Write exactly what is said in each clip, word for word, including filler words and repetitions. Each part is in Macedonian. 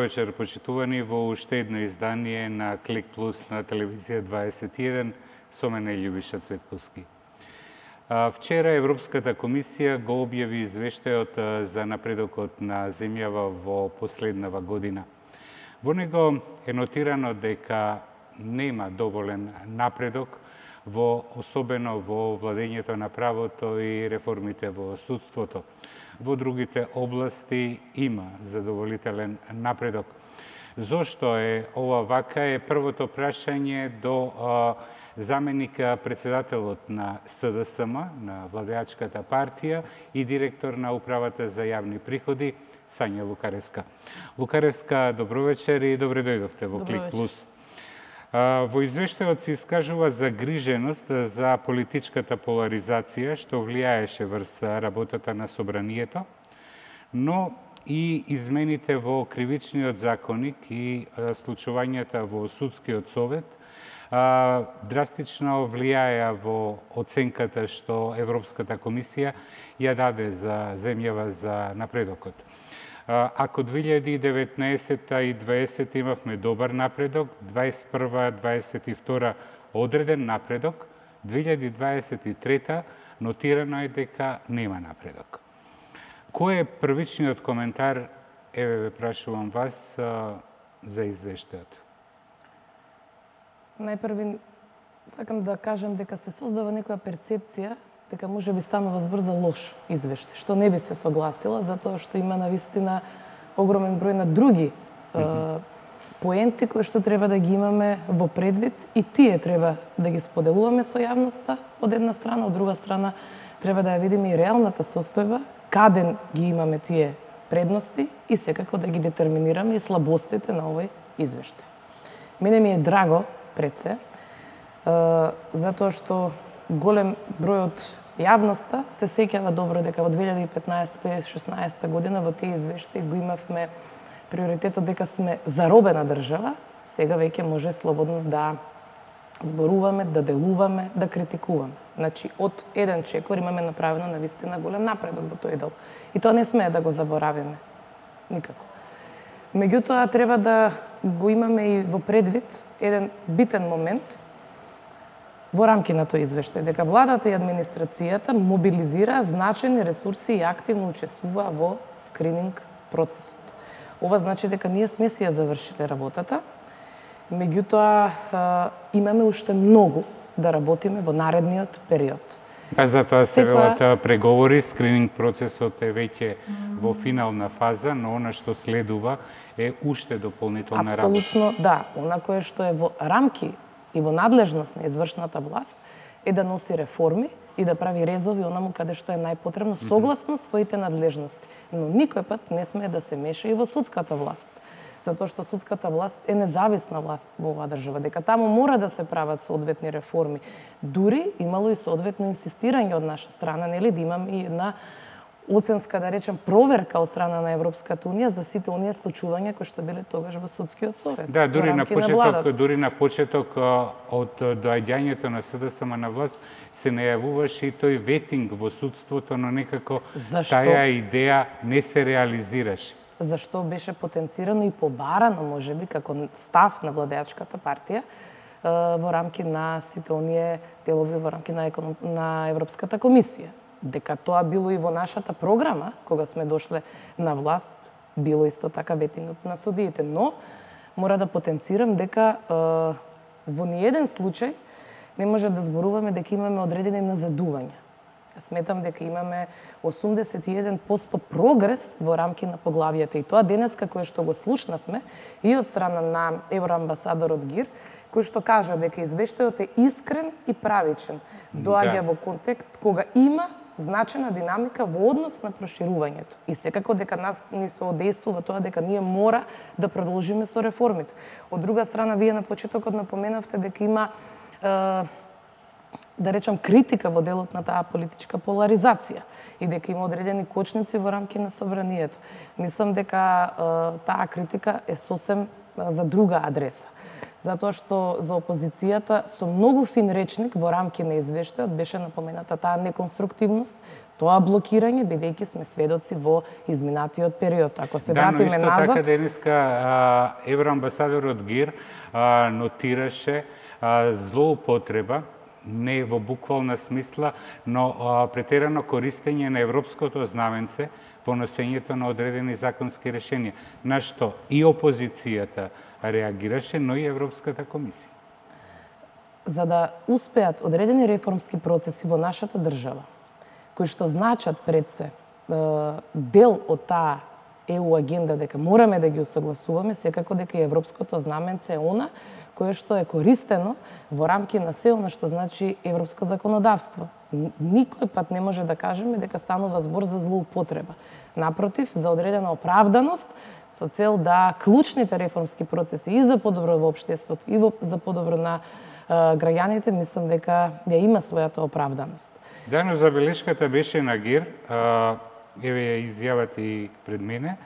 вечер, почитувани, во уште едно издание на Клик Плюс на телевизија дваесет и еден, со мене Љубиша Цветковски. Вчера Европската комисија го објави извештајот за напредокот на земјава во последнава година. Во него е нотирано дека нема доволен напредок во особено во владењето на правото и реформите во судството. Во другите области има задоволителен напредок. Зошто е ова вака е првото прашање до а, заменика председателот на С Д С М, на владеачката партија и директор на Управата за јавни приходи, Сања Лукаревска. Лукаревска, добро вечер и добре дојдовте во Клик Плюс. Во извештајот се искажува загриженост за политичката поларизација што влијаеше врз работата на собранието, но и измените во кривичниот законник и случувањата во судскиот совет драстично влијаја во оценката што Европската комисија ја даде за земјава за напредокот. Ако две илјади и деветнаесетта и дваесетта имавме добар напредок, дваесет и прва дваесет и втора одреден напредок, две илјади дваесет и трета нотирано е дека нема напредок. Кој е првичниот коментар, еве ве прашувам вас, за извештајот? Најпрви сакам да кажам дека се создава некоја перцепција дека може би станува збор за лош извештај, што не би се согласила, затоа што има навистина огромен број на други mm-hmm. е, поенти кои што треба да ги имаме во предвид и тие треба да ги споделуваме со јавноста од една страна, од друга страна треба да ја видиме и реалната состојба, каде ги имаме тие предности и секако да ги детерминираме и слабостите на овој извештај. Мене ми е драго пред се, е, затоа што голем број од јавноста се сеќава добро дека во две илјади и петнаесетта - две илјади и шеснаесетта година во тие извештаи го имавме приоритетот дека сме заробена држава, сега веќе може слободно да зборуваме, да делуваме, да критикуваме. Значи, од еден чекор имаме направено навистина голем напредок во тој дел. И тоа не смее да го заборавиме. Никако. Меѓутоа, треба да го имаме и во предвид еден битен момент во рамки на тој извештај, дека владата и администрацијата мобилизираа значајни ресурси и активно учествуваа во скрининг процесот. Ова значи дека ние сме си ја завршиле работата, меѓутоа имаме уште многу да работиме во наредниот период. А затоа се велат преговори, скрининг процесот е веќе во финална фаза, но она што следува е уште дополнителна работа. Апсолутно, да. Она кое што е во рамки и во надлежност на извршната власт е да носи реформи и да прави резови онаму каде што е најпотребно согласно своите надлежности. Но никој пат не смее да се меша и во судската власт, затоа што судската власт е независна власт во оваа држава, дека таму мора да се прават соодветни реформи. Дури имало и соодветно инсистирање од наша страна, нели, да имам и една оценска, да речем, проверка од страна на Европската унија за сите оние случувања кои што биле тогаш во судскиот совет. Да, дури на почеток, на дури на почеток од доаѓањето на С Д С М на власт се најавуваше и тој ветинг во судството, но некако Зашто? Таа идеја не се реализираше. Зашто беше потенцирано и побарано, можеби, како став на владеачката партија во рамки на сите оние делови во рамки на, економ... на Европската комисија. Дека тоа било и во нашата програма, кога сме дошле на власт, било исто така ветингот на судиите. Но, мора да потенцирам дека е, во ниеден случај не може да зборуваме дека имаме одредени назадувања. Сметам дека имаме осумдесет и еден проценти прогрес во рамки на поглавијата. И тоа денеска кое што го слушнавме и од страна на евроамбасадорот Гир, кој што кажа дека извештајот е искрен и правичен. Доаѓа да. Во контекст кога има значајна динамика во однос на проширувањето. И секако дека нас ни соодействува тоа дека ние мора да продолжиме со реформите. Од друга страна, вие на почетокот напоменавте дека има е, да речам критика во делот на таа политичка поларизација и дека има одредени кочници во рамки на собранието. Мислам дека е, таа критика е сосем за друга адреса. затоа што за опозицијата со многу фин речник во рамки на извештајот беше напомената таа неконструктивност, тоа блокирање, бидејќи сме сведоци во изминатиот период. Ако се да, вратиме но исто назад... така денеска евроамбасадорот Гир а, нотираше а, злоупотреба, не во буквална смисла, но а, претерано користење на европското знаменце во носењето на одредени законски решенија, на што и опозицијата реагираше, но и Европската комисија. За да успеат одредени реформски процеси во нашата држава, кои што значат пред се дел од таа Е У агенда дека мораме да ги усогласуваме, секако дека и европското знаменце е она кое што е користено во рамки на се она што значи европско законодавство. Никој пат не може да кажеме дека станува збор за злоупотреба. Напротив, за одредена оправданост со цел да клучните реформски процеси и за подобро во општеството и за подобро на граѓаните, мислам дека ја има својата оправданост. Да, но забелешката беше на Гир, еве ја изјавата и пред мене,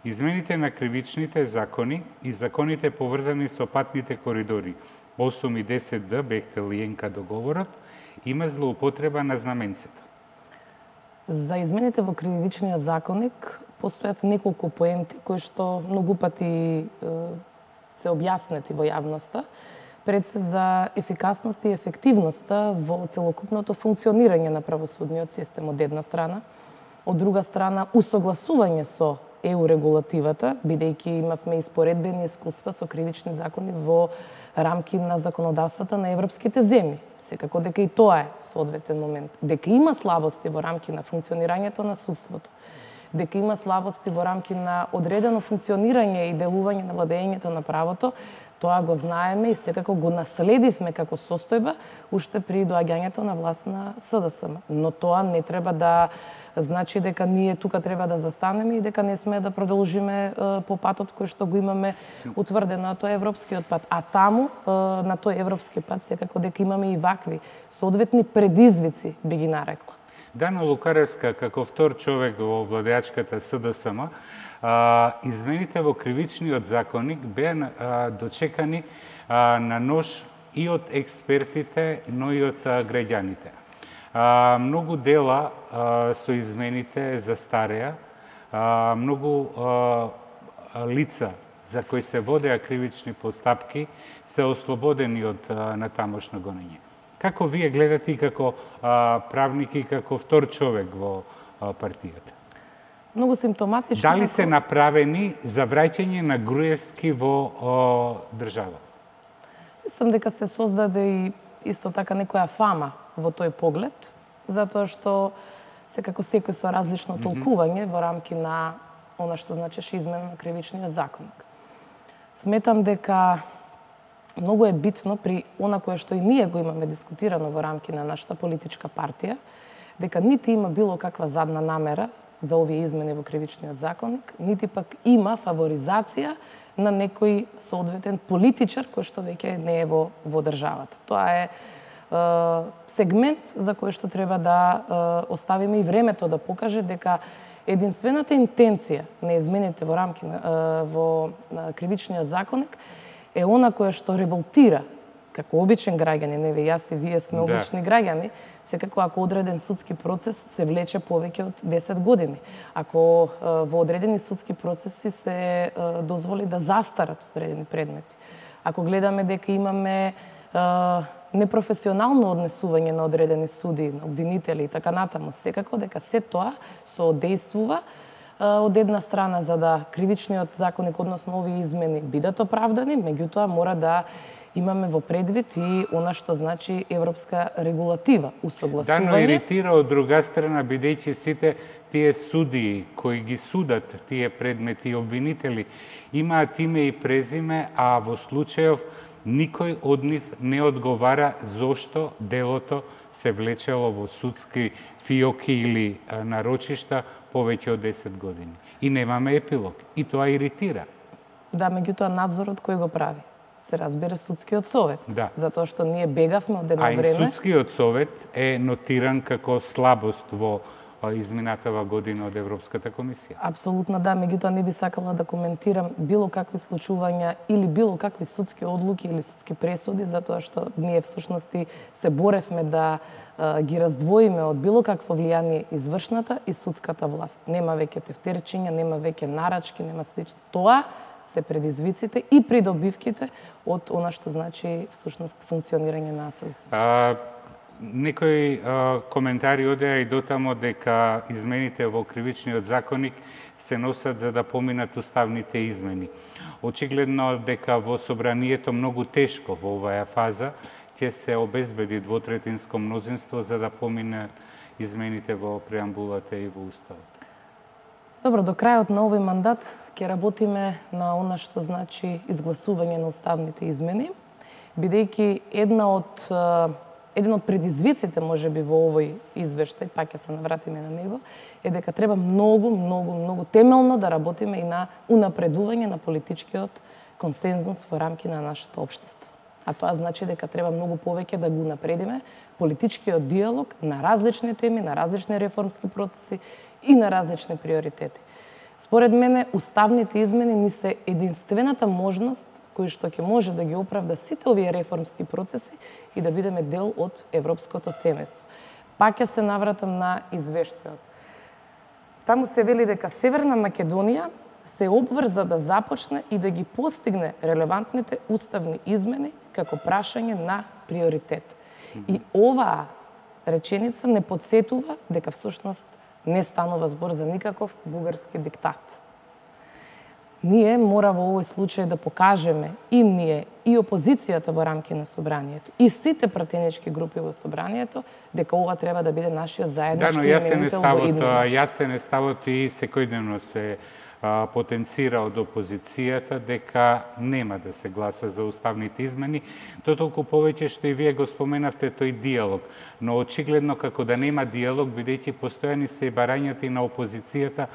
измените на кривичните закони и законите поврзани со патните коридори осум и десет Д, Бехтел и Енка договорот, има злоупотреба на знаменцето. За измените во кривичниот законник постојат неколку поенти кои што многу пати се објаснети во јавноста, пред се за ефикасност и ефективноста во целокупното функционирање на правосудниот систем од една страна, од друга страна усогласување со Е У регулативата, бидејќи имавме испоредбени искуства со кривични закони во рамки на законодавствата на европските земји. Секако дека и тоа е соодветен момент. Дека има слабости во рамки на функционирањето на судството, дека има слабости во рамки на одредено функционирање и делување на владењето на правото, тоа го знаеме и секако го наследивме како состојба уште при доаѓањето на власт на С Д С М. Но тоа не треба да значи дека ние тука треба да застанеме и дека не сме да продолжиме по патот кој што го имаме утврдено, а тоа е европскиот пат. А таму, на тој европски пат, секако дека имаме и вакви соодветни предизвици, би ги нарекла. Дано Лукаревска, како втор човек во владеачката С Д С М, измените во кривичниот законник беа дочекани на нож и од експертите, но и од граѓаните. Многу дела со измените застареа, многу лица за кои се водеа кривични постапки се ослободени од натамошно гонење. Како вие гледате и како правник и како втор човек во партијата? Многу симптоматично. Дали се направени за враќање на Груевски во о, држава? Мислам дека се создаде и исто така некоја фама во тој поглед, затоа што секако секој со различно толкување во рамки на она што значеше измена на кривичниот законник. Сметам дека многу е битно при она кое што и ние го имаме дискутирано во рамки на нашата политичка партија, дека нити има било каква задна намера за овие измени во кривичниот законник, нити пак има фаворизација на некој соодветен политичар кој што веќе не е во, во државата. Тоа е, е сегмент за кој што треба да е, оставиме и времето да покаже дека единствената интенција на измените во рамки на, е, во на кривичниот законник е она која што револтира како обичен граѓанин, еве јас и вие сме да. обични граѓани, секако ако одреден судски процес се влече повеќе од десет години. Ако е, во одредени судски процеси се е, дозволи да застарат одредени предмети. Ако гледаме дека имаме е, непрофесионално однесување на одредени суди, на обвинители и така натаму, секако дека се тоа соодействува од една страна за да кривичниот законник, односно овие измени бидат оправдани, меѓутоа мора да имаме во предвид и она што значи европска регулатива, усогласување. Да, но иритира од друга страна, бидејќи сите тие судии кои ги судат тие предмети и обвинители имаат име и презиме, а во случајов никој од нив не одговара зошто делото се влечело во судски фиоки или нарочишта повеќе од десет години. И немаме епилог. И тоа иритира. Да, меѓутоа надзорот кој го прави? Се разбира судскиот совет. Да. Затоа што ние бегавме од едно а време. А и судскиот совет е нотиран како слабост во изминатава година од Европската комисија. Апсолутно да, меѓутоа не би сакала да коментирам било какви случувања или било какви судски одлуки или судски пресуди, затоа што ние всушност се боревме да а, ги раздвоиме од било какво влијание извршната и судската власт. Нема веќе тефтерчиња, нема веќе нарачки, нема слично. Тоа се предизвиците и придобивките од она што значи всушност функционирање на АСЗ. А, некои а, коментари одеа и дотамо дека измените во кривичниот законник се носат за да поминат уставните измени. Очигледно дека во собранието многу тешко во оваа фаза ќе се обезбеди двотретинско мнозинство за да помине измените во преамбулата и во уставот. Добро, до крајот на овој мандат ќе работиме на она што значи изгласување на уставните измени, бидејќи една од еден од предизвиците можеби во овој извештај, пак ќе се навратиме на него, е дека треба многу, многу, многу темелно да работиме и на унапредување на политичкиот консензус во рамки на нашето општество. А тоа значи дека треба многу повеќе да го напредиме политичкиот диалог на различни теми, на различни реформски процеси и на различни приоритети. Според мене, уставните измени ни се единствената можност кој што ќе може да ги оправда сите овие реформски процеси и да бидеме дел од европското семејство. Пак ќе се навратам на извештајот. Таму се вели дека Северна Македонија се обврза да започне и да ги постигне релевантните уставни измени како прашање на приоритет. И оваа реченица не подсетува дека всушност не станува збор за никаков бугарски диктат. Ние мора во овој случај да покажеме и ние, и опозицијата во рамки на собранието, и сите пратенички групи во собранието, дека ова треба да биде нашиот заеднички именител во иднина. Да, но јасен е ставот и секојдневно се а, потенцира од опозицијата дека нема да се гласа за уставните измени, то толку повеќе што и вие го споменавте тој диалог. Но очигледно како да нема диалог, бидејќи постојани се и барањата и на опозицијата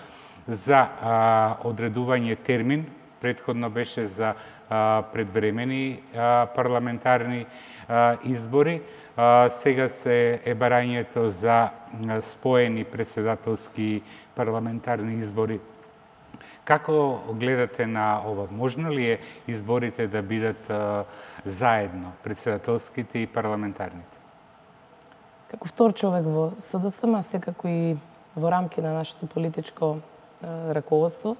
за а, одредување термин, претходно беше за а, предвремени а, парламентарни а, избори, а, сега се е барањето за а, споени председателски парламентарни избори. Како гледате на ова? Можно ли е изборите да бидат а, заедно, председателските и парламентарните? Како втор човек во СДСМ, секако и во рамки на нашето политичко раководство,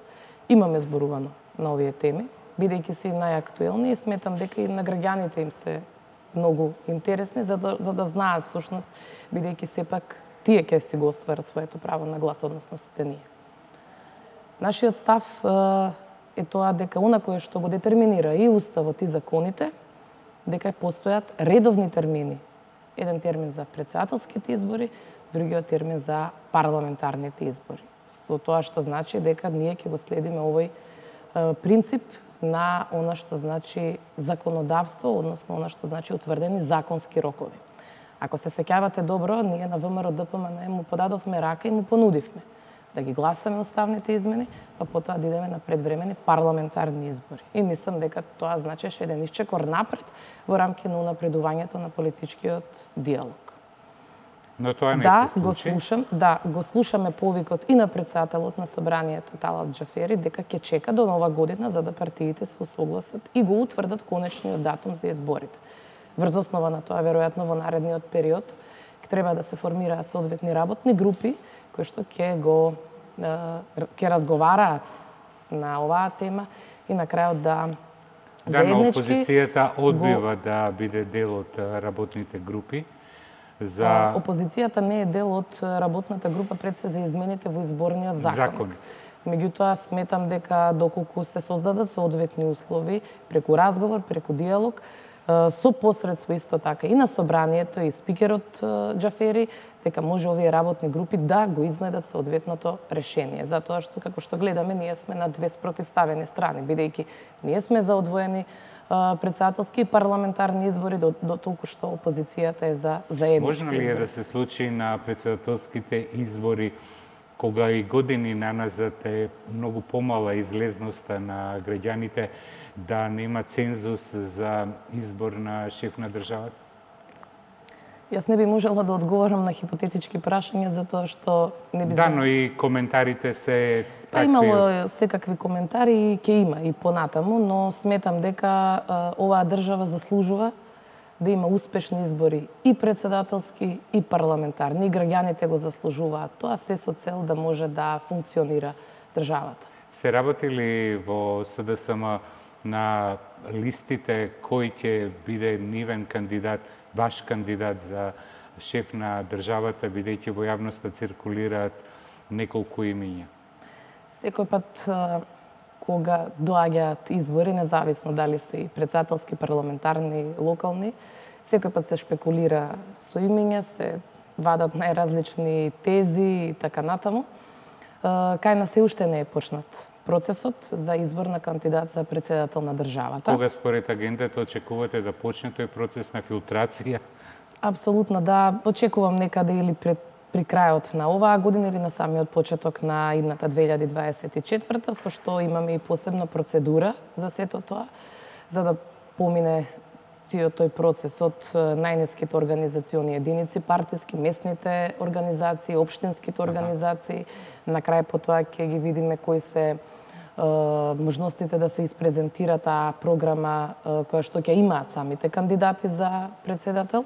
имаме зборувано на овие теми, бидејќи се и најактуелни и сметам дека и на граѓаните им се многу интересни, за да, за да знаат всушност, бидејќи сепак тие ќе си го остварат своето право на глас, односно сите ние. Нашиот став е тоа дека она кое што го детерминира и уставот и законите, дека постојат редовни термини. Еден термин за председателските избори, другиот термин за парламентарните избори. Со тоа што значи дека ние ќе го следиме овој е, принцип на она што значи законодавство, односно она што значи утврдени законски рокови. Ако се сеќавате добро, ние на ВМРО Д П М Н му подадовме рака и му понудивме да ги гласаме уставните измени, па потоа да идеме на предвремени парламентарни избори. И мислам дека тоа значеше еден исчекор напред во рамки на унапредувањето на политичкиот диалог. Но тоа не да, се случи. го слушам, да, го слушаме повикот и на председателот на собранието Талат Џафери дека ќе чека до нова година за да партиите се усогласат и го утврдат конечниот датум за изборите. Врз основа на тоа, веројатно во наредниот период треба да се формираат соодветни работни групи кои што ќе го ќе разговараат на оваа тема и на крајот да Да, но опозицијата одбива го... да биде дел од работните групи. За... Опозицијата не е дел од работната група пред се за измените во изборниот законник. Закон. Меѓутоа, сметам дека доколку се создадат соодветни услови, преку разговор, преку диалог, со посредство исто така и на собранието и спикерот Џафери, дека може овие работни групи да го изнедат соодветното решение. Затоа што, како што гледаме, ние сме на две спротивставени страни, бидејќи ние сме за одвоени председателски и парламентарни избори, до, до толку што опозицијата е за заеднички избори. Можно ли е да се случи на председателските избори, кога и години наназад е многу помала излезноста на граѓаните, да нема цензус за избор на шеф на државата? Јас не би можела да одговорам на хипотетички прашања затоа што не би Да, знала. но и коментарите се Па такви. имало секакви коментари и ќе има и понатаму, но сметам дека а, оваа држава заслужува да има успешни избори и председателски и парламентарни. И граѓаните го заслужуваат тоа, се со цел да може да функционира државата. Се работи ли во С Д С М на листите кој ќе биде нивен кандидат, ваш кандидат за шеф на државата, бидејќи во јавноста циркулираат неколку имиња? Секој пат а, кога доаѓаат избори, независно дали се и председателски, парламентарни, локални, секој пат се шпекулира со имиња, се вадат најразлични тези и така натаму. А, кај нас се уште не е почнат процесот за избор на кандидат за председател на државата. Кога според агендата очекувате да почне тој процес на филтрација? Апсолутно да, очекувам некаде или пред при крајот на оваа година или на самиот почеток на идната две илјади дваесет и четврта, со што имаме и посебна процедура за сето тоа, за да помине целиот тој процес од најниските организациони единици, партиски, местните организации, општинските организации. На крај по тоа ќе ги видиме кои се можностите да се испрезентира таа програма која што ќе имаат самите кандидати за председател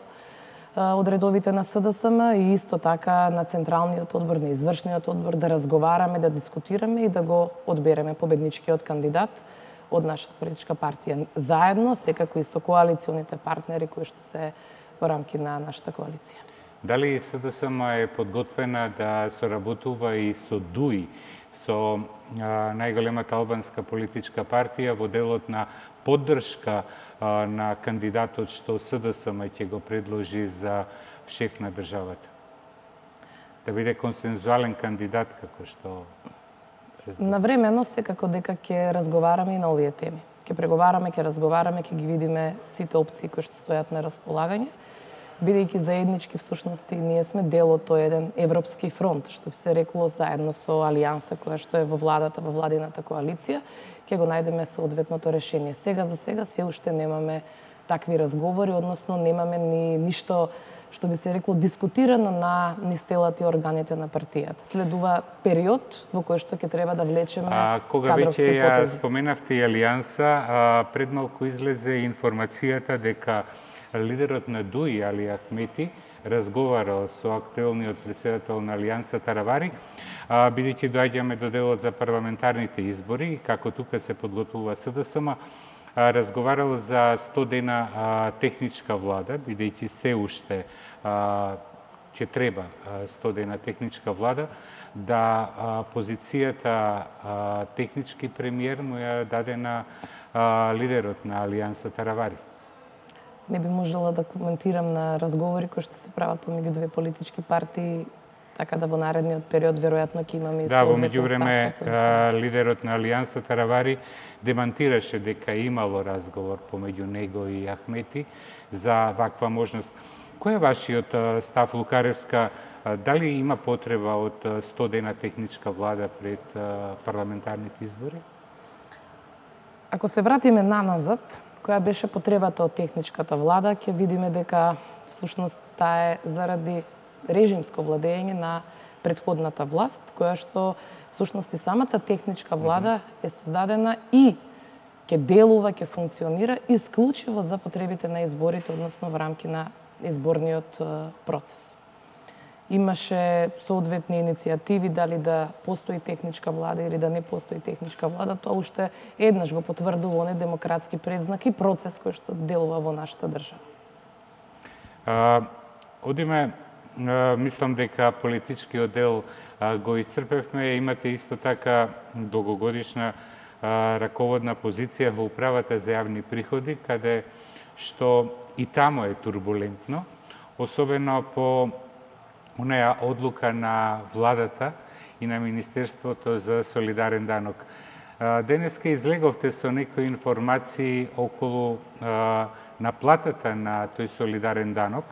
од редовите на С Д С М и исто така на Централниот одбор, на Извршниот одбор, да разговараме, да дискутираме и да го одбереме победничкиот кандидат од нашата политичка партија. Заедно, секако и со коалиционите партнери кои што се во рамки на нашата коалиција. Дали С Д С М е подготвена да соработува и со Д У И, со а, најголемата албанска политичка партија во делот на поддршка а, на кандидатот што С Д С М ќе го предложи за шеф на државата? Да биде консензуален кандидат, како што... Навремено секако дека ќе разговараме и на овие теми. Ќе преговараме, ќе разговараме, ќе ги видиме сите опции кои што стојат на располагање, бидејќи заеднички всушност и ние сме дел од тој еден европски фронт, што би се рекло заедно со алијанса која што е во владата, во владината коалиција, ќе го најдеме соодветното решение. Сега за сега се уште немаме такви разговори, односно немаме ни ништо што би се рекло дискутирано на нистелата и органите на партијата. Следува период во кој што ќе треба да влечеме а, кога кадровски веќе ја потези. споменавте и алијанса, а, пред малку излезе информацијата дека лидерот на Д У И, Али Ахмети, разговарал со актуелниот председател на Алијанса Таравари, а, бидејќи доаѓаме до делот за парламентарните избори, како тука се подготвува С Д С М, а, разговарал за сто дена а, техничка влада, бидејќи се уште а, ќе треба а, сто дена техничка влада, да а, позицијата а, технички премиер му ја даде на а, лидерот на Алијанса Таравари. Не би можела да коментирам на разговори кои што се прават помеѓу две политички партии, така да во наредниот период веројатно ќе имаме и Да, во соодветен меѓувреме став од С Д С М. лидерот на Алијанса Таравари демантираше дека имало разговор помеѓу него и Ахмети за ваква можност. Кој е вашиот а, став, Лукаревска? А, дали има потреба од а, сто дена техничка влада пред а, парламентарните избори? Ако се вратиме наназад, која беше потребата од техничката влада, ќе видиме дека всушност таа е заради режимско владење на претходната власт, која што всушност и самата техничка влада е создадена и ќе делува, ќе функционира исклучиво за потребите на изборите, односно во рамки на изборниот процес. Имаше соодветни иницијативи дали да постои техничка влада или да не постои техничка влада, тоа уште еднаш го потврдува оне демократски предзнак и процес кој што делува во нашата држава. А, одиме, а, мислам дека политичкиот дел а, го исцрпевме, имате исто така долгогодишна а, раководна позиција во управата за јавни приходи, каде што и тамо е турбулентно, особено по онаа одлука на владата и на Министерството за солидарен данок. Денеска излеговте со некои информации околу а, наплатата на тој солидарен данок,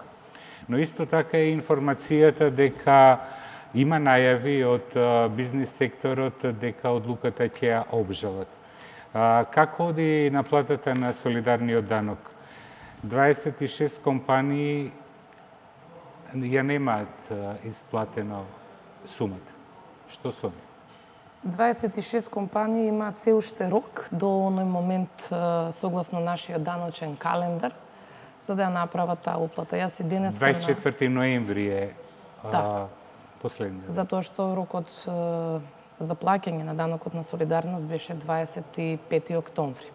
но исто така е информацијата дека има најави од а, бизнис секторот дека одлуката ќе ја обжалат. А, како оди наплатата на солидарниот данок? дваесет и шест компании ја немаат исплатено сумата. Што со нив? дваесет и шест компании имаат се уште рок до оној момент согласно нашиот даночен календар за да ја направат таа уплата. Јас и денес дваесет и четврти ноември е да. Последниот. Затоа што рокот за плаќање на данокот на солидарност беше дваесет и пети октомври.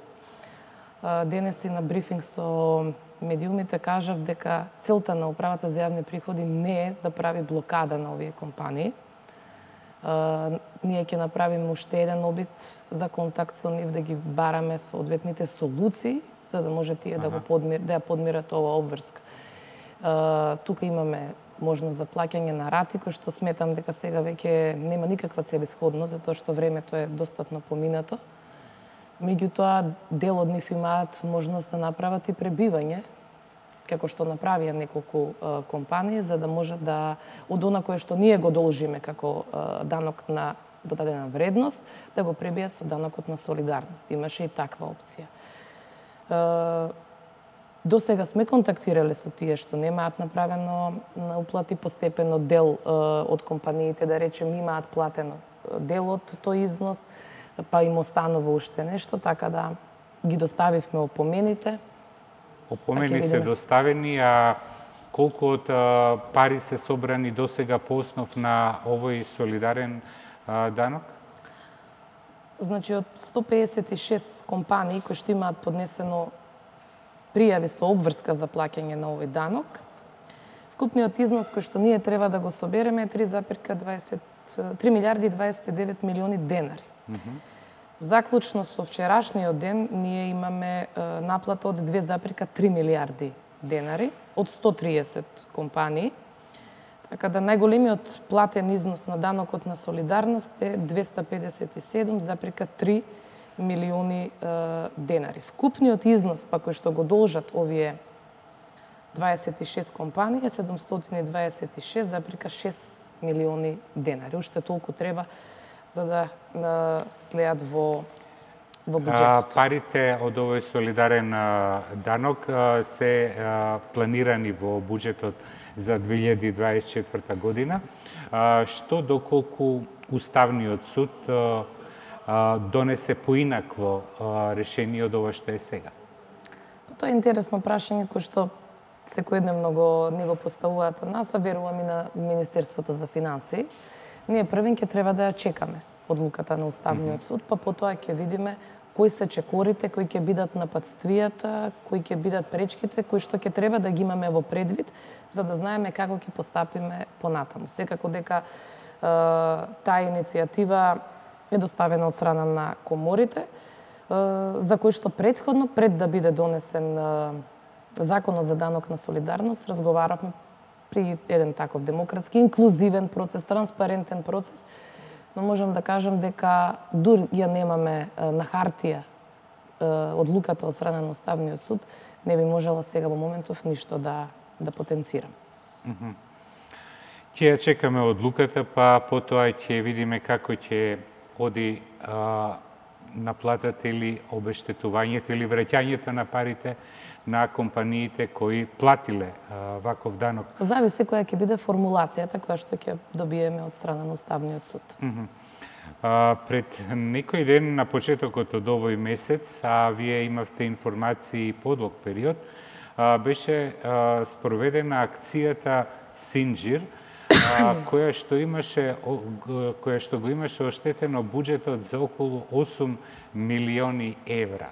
Денес и на брифинг со медиумите кажав дека целта на управата за јавни приходи не е да прави блокада на овие компании. Uh, ние ќе направиме уште еден обид за контакт со нив, да ги бараме соодветните солуции, за да може тие ага. да го подмир, да ја подмират оваа обврска. Uh, тука имаме можност за плаќање на рати, кој што сметам дека сега веќе нема никаква целисходност, затоа што времето е достатно поминато. Меѓутоа, дел од нив имаат можност да направат и пребивање, како што направија неколку а, компании, за да може да, од она кое што ние го должиме како а, данок на додадена вредност, да го пребијат со данокот на солидарност. Имаше и таква опција. А, до сега сме контактирале со тие што немаат направено на уплати постепено, дел а, од компаниите, да речем, имаат платено дел од тој износ, па им останува уште нешто, така да ги доставивме опомените. Опомени се доставени, а колку од а, пари се собрани досега по основ на овој солидарен а, данок? Значи, од сто пеесет и шест компании кои што имаат поднесено пријави со обврска за плаќање на овој данок, вкупниот износ кој што ние треба да го собереме е три милиарди дваесет и девет милиони денари. Mm -hmm. Заклучно со вчерашниот ден, ние имаме е, наплата од две запирка три милиарди денари од сто триесет компании. Така да најголемиот платен износ на данокот на солидарност е двеста педесет и седум запирка три милиони е, денари. Вкупниот износ па кој што го должат овие дваесет и шест компании е седумстотини дваесет и шест запирка шест милиони денари. Уште толку треба за да се слеат во, во буџетот. Парите од овој солидарен данок се планирани во буџетот за две илјади дваесет и четврта година. Што доколку Уставниот суд донесе поинакво решение од ова што е сега? Тоа е интересно прашање кој што секојдневно го не го поставуваат од нас, а верувам и на Министерството за финансии. Ние првен ќе треба да ја чекаме одлуката на Уставниот суд, па потоа ќе видиме кои се чекорите, кои ќе бидат нападствијата, кои ќе бидат пречките, кои што ќе треба да ги имаме во предвид, за да знаеме како ќе постапиме понатаму. Секако дека е, таа иницијатива е доставена од страна на коморите, е, за кои што претходно, пред да биде донесен е, Законот за данок на солидарност, разговаравме при еден таков демократски, инклузивен процес, транспарентен процес, но можам да кажам дека дури ја немаме на хартија одлуката од страна на Уставниот суд, не би можела сега во моментов ништо да да потенцирам. Mm-hmm. Ќе ја чекаме одлуката, па потоа ќе видиме како ќе оди а, наплатата или обештетувањето или враќањето на парите на компаниите кои платиле а, ваков данок. Зависи која ќе биде формулацијата која што ќе добиеме од страна на Уставниот суд. Mm -hmm. а, пред некој ден на почетокот од овој месец, а вие имавте информации подлог период, а, беше а, спроведена акцијата Синџир, а, која што имаше која што го имаше оштетено буџетот за околу осум милиони евра.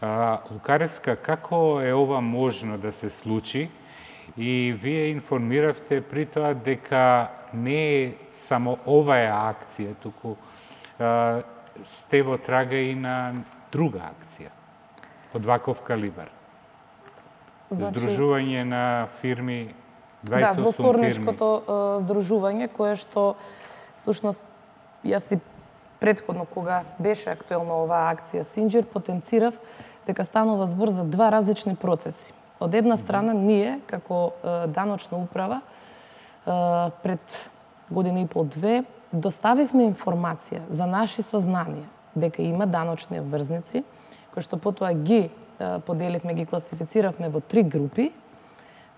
А, Лукаревска, како е ова можно да се случи? И вие информиравте при тоа дека не е само оваа акција, туку а, сте во трага и на друга акција од ваков калибар. Значи, Здружување на фирми, дваесет осум да, злосторничкото фирми. Здружување, кое што, всушност, јас и предходно, кога беше актуелна оваа акција Синџир, потенцирав дека станува збор за два различни процеси. Од една страна, ние, како е, даночна управа, е, пред година и пол-две, доставивме информација за наши сознанија дека има даночни обврзници, кои што потоа ги е, поделивме, ги класифициравме во три групи,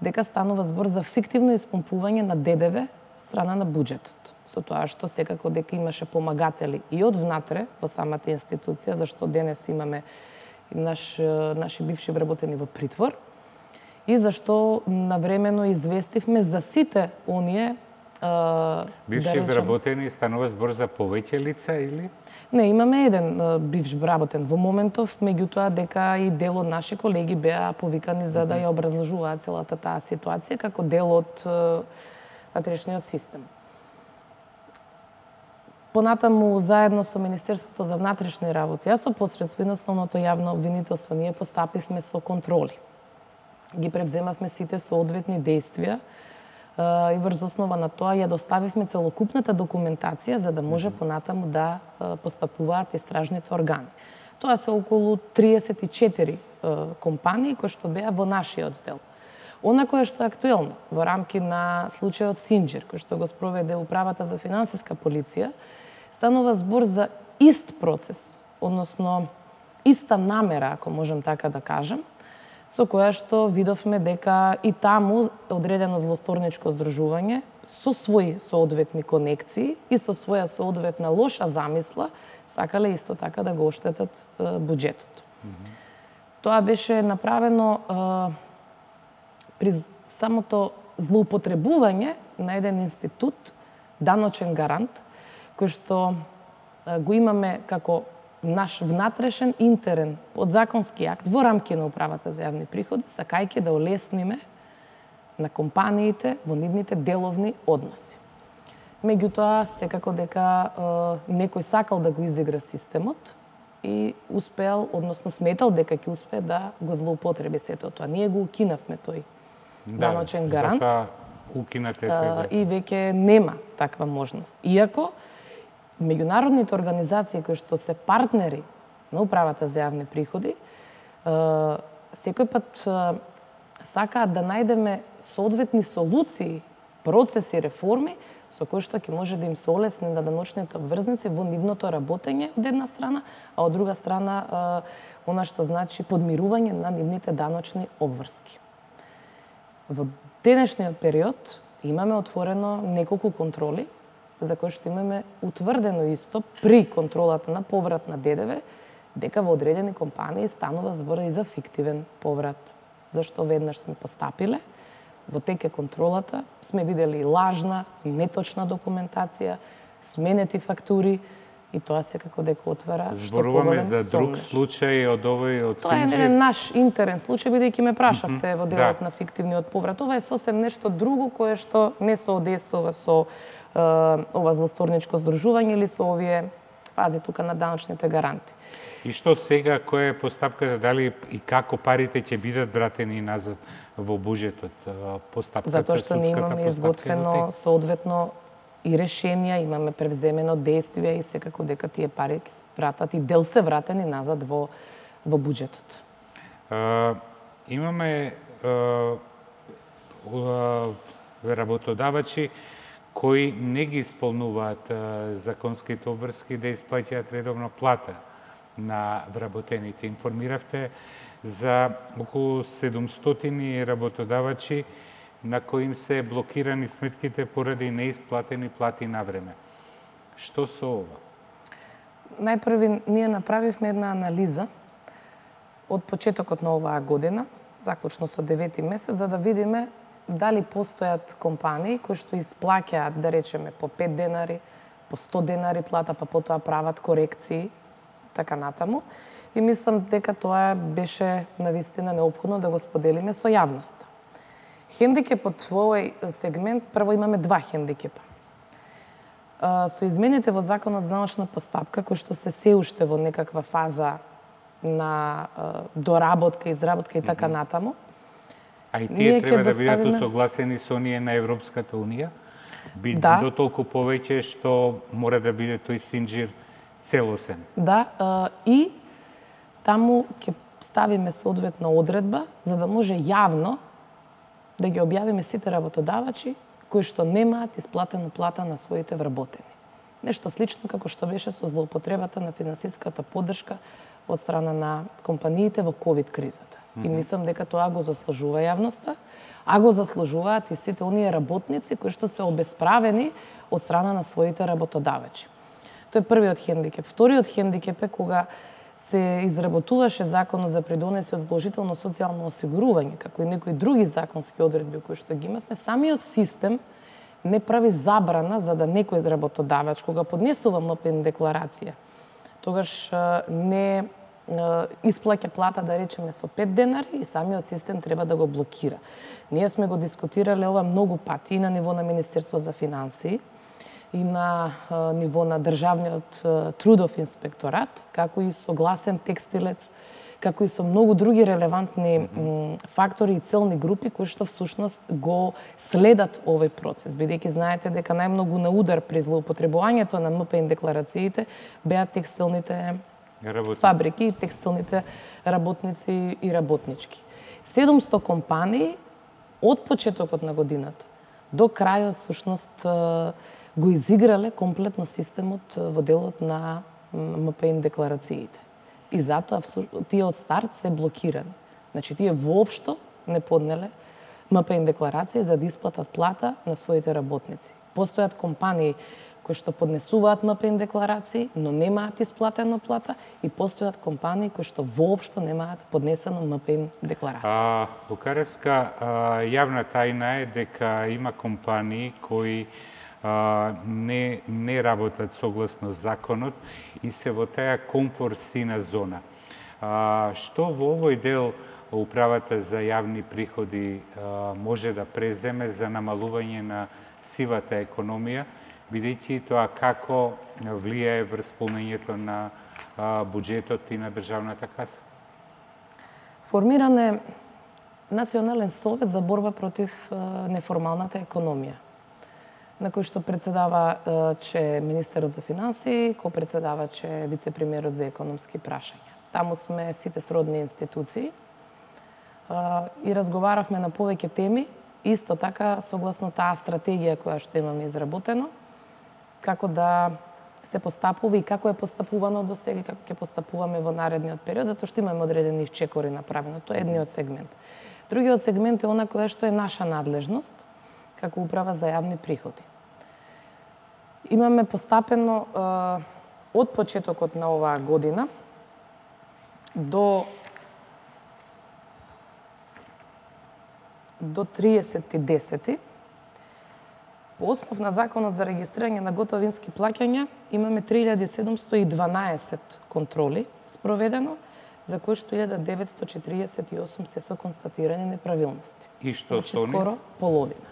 дека станува збор за фиктивно испомпување на Д Д В страна на буџетот. Со тоа што секако дека имаше помагатели и од внатре во самата институција, зашто денес имаме наш, наши бивши вработени во притвор, и зашто навремено известивме за сите оние бивши да речем, вработени станува збор за повеќе лица или? Не, имаме еден бивш вработен во моментов, меѓутоа дека и дел од наши колеги беа повикани за да ја образложуваат целата таа ситуација како дел од внатрешниот систем. Понатаму, заедно со Министерството за внатрешни работи, а со посредство основното јавно обвинителство, ние постапивме со контроли. Ги превземавме сите соодветни действија и врз основа на тоа ја доставивме целокупната документација за да може понатаму да постапуваат истражните органи. Тоа се околу триесет и четири компании кои што беа во нашиот дел. Она кое што е актуелно во рамки на случајот Синџир, кој што го спроведе Управата за финансиска полиција, станува збор за ист процес, односно иста намера, ако можам така да кажам, со која што видовме дека и таму одредено злосторничко здружување со своји соодветни конекции и со своја соодветна лоша замисла сакале исто така да го оштетат буџетот. Mm -hmm. Тоа беше направено е, при самото злоупотребување на еден институт, даночен гарант, кој што е, го имаме како наш внатрешен интерен подзаконски акт во рамки на Управата за јавни приходи, сакајќи да олесниме на компаниите во нивните деловни односи. Меѓутоа, секако дека е, некој сакал да го изигра системот и успеал, односно сметал дека ќе успее да го злоупотреби сето тоа. Ние го укинавме тој да, даночен гарант укинате тој, и веќе нема таква можност. Иако меѓународните организации кои што се партнери на Управата за јавни приходи, секој пат сакаат да најдеме соодветни солуции, процеси, реформи со кои што ќе може да им се олесни на даночните обврзници во нивното работење од една страна, а од друга страна она што значи подмирување на нивните даночни обврски. Во денешниот период имаме отворено неколку контроли за кој што имаме утврдено исто при контролата на поврат на Д Д В, дека во одредени компании станува збор и за фиктивен поврат. Зашто веднаш сме постапиле, во теке контролата сме видели лажна, неточна документација, сменети фактури, и тоа секако дека отвара што зборуваме за друг случај од овој од Тоа е не наш интерен случај, бидејќи ме прашавте mm -hmm. во делот да. на фиктивниот поврат. Ова е сосем нешто друго кое што не соодействува со е, ова злосторничко здружување или со овие фази тука на даночните гаранти. И што сега, која е постапката, дали и како парите ќе бидат вратени назад во буџетот? Постапката, затоа што не имаме изготвено соодветно и решенија, имаме превземено действие и секако дека тие пари ќе се вратат и дел се вратени назад во во буџетот. Uh, имаме uh, uh, работодавачи кои не ги исполнуваат uh, законските обврски да исплаќаат редовно плата на вработените. Информиравте за околу седумстотини работодавачи на кои им се блокирани сметките поради неисплатени плати на време. Што со ова? Најпрви ние направивме една анализа од почетокот на оваа година, заклучно со девети месец, за да видиме дали постојат компании кои што исплаќаат, да речеме, по пет денари, по сто денари плата, па потоа прават корекции, така натаму. И мислам дека тоа беше навистина неопходно да го споделиме со јавноста. Хендикепот во овој сегмент, прво имаме два хендикепа. Со измените во Законот за даночна постапка, кои што се се уште во некаква фаза на доработка, изработка и така натаму. А и тие треба да бидат усогласени со оние на Европската Унија? Би да. До толку повеќе што мора да биде тој Синџир целосен. Да, и таму ќе ставиме соодветна одредба за да може јавно да ги објавиме сите работодавачи кои што немаат исплатена плата на своите вработени. Нешто слично како што беше со злоупотребата на финансиската поддршка од страна на компаниите во ковид кризата. Mm-hmm. И мислам дека тоа го заслужува јавноста, а го заслужуваат и сите оние работници кои што се обесправени од страна на своите работодавачи. Тоа е првиот хендикеп. Вториот хендикеп е кога се изработуваше законот за придонеси од задолжително социјално осигурување, како и некои други законски одредби кои што ги имавме, самиот систем не прави забрана за да некој работодавач кога поднесува ем пе ен декларација, тогаш не исплаќа плата, да речеме, со пет денари и самиот систем треба да го блокира. Ние сме го дискутирале ова многу пати и на ниво на Министерство за финансии, и на а, ниво на Државниот а, трудов инспекторат, како и со гласен текстилец, како и со многу други релевантни mm-hmm. фактори и целни групи кои што всушност го следат овој процес, бидејќи знаете дека најмногу на удар при злоупотребувањето на ем пе ен декларациите беа текстилните Работници. фабрики и текстилните работници и работнички. седумсто компании од почетокот на годината до крајот всушност го изиграле комплетно системот во делот на ем пе ен декларациите. И затоа тие од старт се блокирани. Значи тие воопшто не поднеле ем пе ен декларација за да исплатат плата на своите работници. Постојат компании кои што поднесуваат ем пе ен декларации, но немаат исплатена плата, и постојат компании кои што воопшто немаат поднесено ем пе ен декларација. Букареска, јавна тајна е дека има компании кои а, не не работат согласно законот и се во таа комфорсина зона. А, што во овој дел Управата за јавни приходи а, може да преземе за намалување на сивата економија, бидејќи тоа како влијае врз полнењето на а, буџетот и на државната каса? Формиран е Национален совет за борба против а, неформалната економија, на кој што председава а, че министерот за финансии, кој председава че вице-премиерот за економски прашања. Таму сме сите сродни институции а, и разговаравме на повеќе теми, исто така согласно таа стратегија која што имаме изработено, како да се постапува и како е постапувано до сега, како ќе постапуваме во наредниот период, затоа што имаме одредени чекори направено. Тоа е едниот сегмент. Другиот сегмент е она која што е наша надлежност, како Управа за јавни приходи. Имаме постапено е, од почетокот на оваа година до до триесети десети по основ на Законот за регистрирање на готовински плаќања имаме три илјади седумсто и дванаесет контроли спроведено, за кои што илјада деветсто четиридесет и осум се со констатирани неправилности. И што значи, со скоро половина.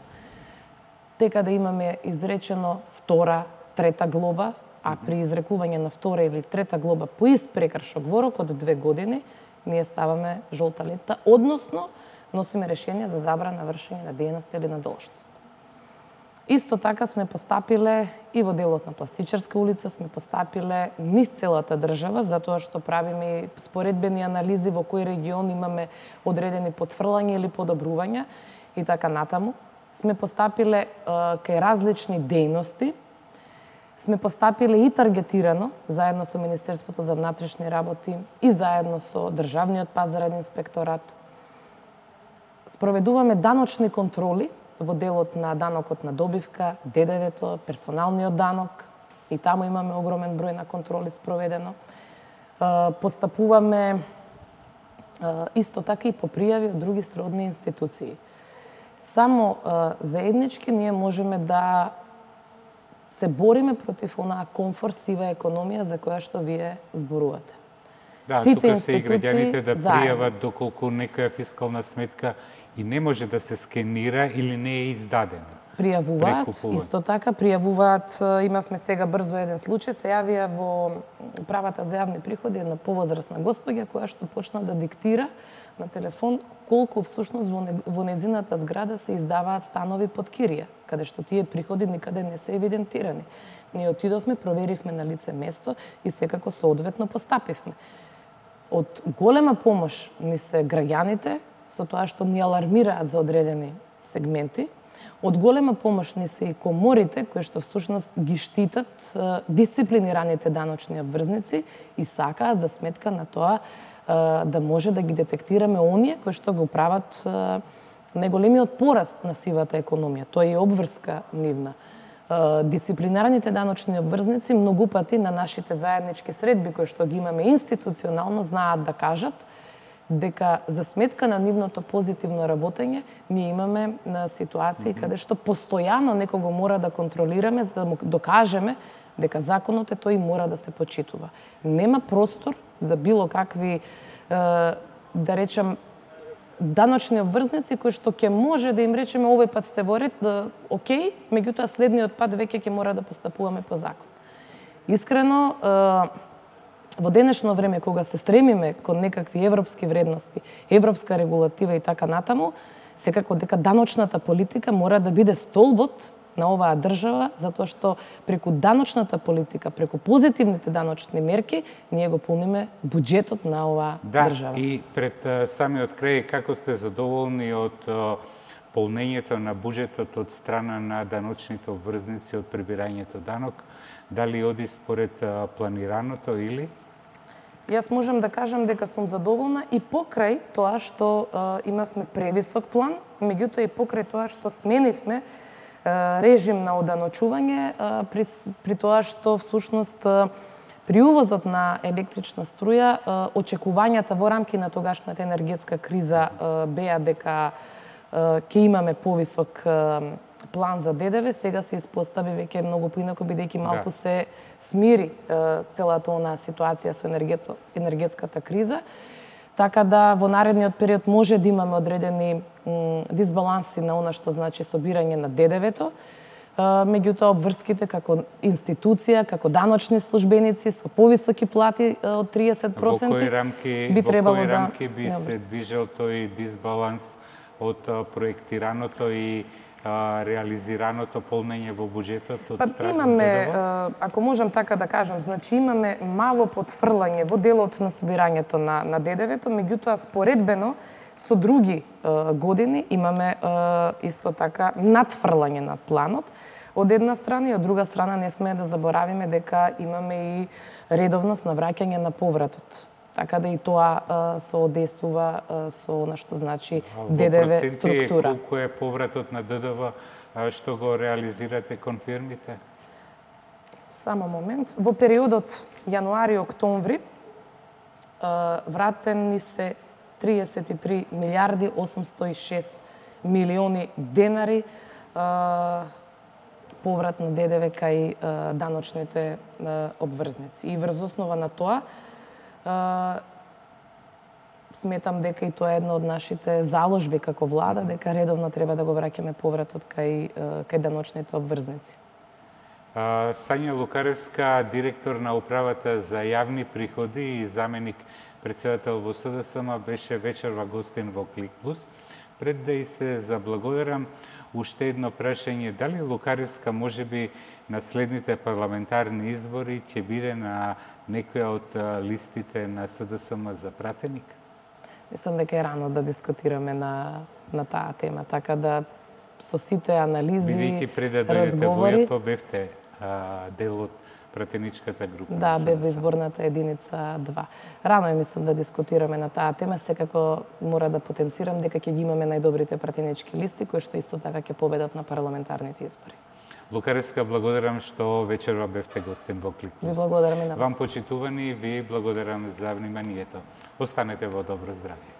Дека да имаме изречено втора, трета глоба, а при изрекување на втора или трета глоба по ист прекршок во рок од две години, ние ставаме жолта лента, односно носиме решение за забрана вршење на дејност или на должност. Исто така сме постапиле и во делот на Пластичарска улица, сме постапиле низ целата држава, затоа што правиме споредбени анализи во кој регион имаме одредени потврлања или подобрувања и така натаму. Сме постапиле е, кај различни дејности, сме постапиле и таргетирано, заедно со Министерството за внатрешни работи и заедно со Државниот пазарен инспекторат. Спроведуваме даночни контроли во делот на данокот на добивка, де де ве-то, персоналниот данок, и таму имаме огромен број на контроли спроведено. Постапуваме исто така и по пријави од други сродни институции. Само заеднички ние можеме да се бориме против онаа комфорт сива економија за која што вие зборувате. Да, сите тука се и граѓаните да заедно пријават доколку некоја фискална сметка и не може да се скенира или не е издадена. Пријавуваат, Прекупуваат. исто така пријавуваат, имавме сега брзо еден случај, се јавија во Управата за јавни приходи една повозрасна госпоѓа која што почна да диктира на телефон колку всушност во, не, во незината зграда се издаваат станови под кирија, каде што тие приходи никаде не се евидентирани. Ние отидовме, проверивме на лице место и секако соодветно постапивме. Од голема помош ни се граѓаните со тоа што ни алармираат за одредени сегменти. Од голема помош ни се и коморите кои што всушност ги штитат дисциплинираните даночни обврзници и сакаат за сметка на тоа да може да ги детектираме оние кои што го прават најголемиот пораст на сивата економија. Тоа е обврска нивна. Дисциплинарните даночни обврзници многу пати на нашите заеднички средби кои што ги имаме институционално знаат да кажат дека за сметка на нивното позитивно работење ние имаме на ситуации mm-hmm. каде што постојано некого мора да контролираме за да му докажеме дека законот е тој и мора да се почитува. Нема простор за било какви да речам даночни обврзници кои што ќе може да им речеме овој пат сте во ред, да, окей, меѓутоа следниот пат веќе ќе мора да постапуваме по закон. Искрено, во денешно време кога се стремиме кон некакви европски вредности, европска регулатива и така натаму, секако дека даночната политика мора да биде столбот на оваа држава, затоа што преку даночната политика, преку позитивните даночни мерки, ние го полниме буџетот на оваа да, држава. Да, и пред самиот крај, како сте задоволни од полнењето на буџетот од страна на даночните обврзници од прибирањето данок, дали оди според планираното или? Јас можам да кажам дека сум задоволна и покрај тоа што а, имавме превисок план, меѓутоа и покрај тоа што сменивме режим на оданочување, при, при тоа што всушност при увозот на електрична струја очекувањата во рамки на тогашната енергетска криза беа дека ќе имаме повисок план за ДДВ, сега се испостави веќе многу поинако бидејќи малку да. се смири целата онаа ситуација со енергетската криза. Така да во наредниот период може да имаме одредени дисбаланси на она што значи собирање на ДДВ-то, меѓутоа обврските како институција, како даночни службеници со повисоки плати од триесет проценти, во кои рамки, би требало во кои да рамки би се движел тој дисбаланс од проектираното и а, реализираното полнење во буџетот од па, страна имаме, ако можам така да кажам, значи имаме мало потфрлање во делот на собирањето на, на ДДВ-то, меѓутоа споредбено со други а, години имаме а, исто така надфрлање на планот од една страна и од друга страна не сме да заборавиме дека имаме и редовност на враќање на повратот. Така да и тоа а, соодействува а, со она што значи ДДВ структура. Во проценти колку е повратот на ДДВ а, што го реализирате кон фирмите? Само момент. Во периодот јануари-октомври вратени се триесет и три милиарди осумсто и шест милиони денари а, поврат на ДДВ кај а, даночните а, обврзници. И врз основа на тоа Uh, сметам дека и тоа е една од нашите заложби како влада, дека редовно треба да го враќаме повратот кај, кај даночните обврзници. Uh, Сања Лукаревска, директор на Управата за јавни приходи и заменик председател во СДСМ, беше вечерва гостин во Клик Плюс. Пред да и се заблагодарам, уште едно прашање, дали Лукаревска можеби на следните парламентарни избори ќе биде на некоја од листите на СДСМ за пратеник? Мислам дека е рано да дискутираме на, на таа тема, така да со сите анализи, бидејќи пред да дојдете во ЈП бевте а, дел од пратеничката група. Да, бе во изборната единица два. Рано е, мислам, да дискутираме на таа тема, секако мора да потенцирам дека ќе ги имаме најдобрите пратенички листи, кои што исто така ќе победат на парламентарните избори. Лукаревска, благодарам што вечерва бевте гостин во Клик Плюс. Ви благодарам и на вас. Вам почитувани, ви благодарам за вниманието. Останете во добро здравје.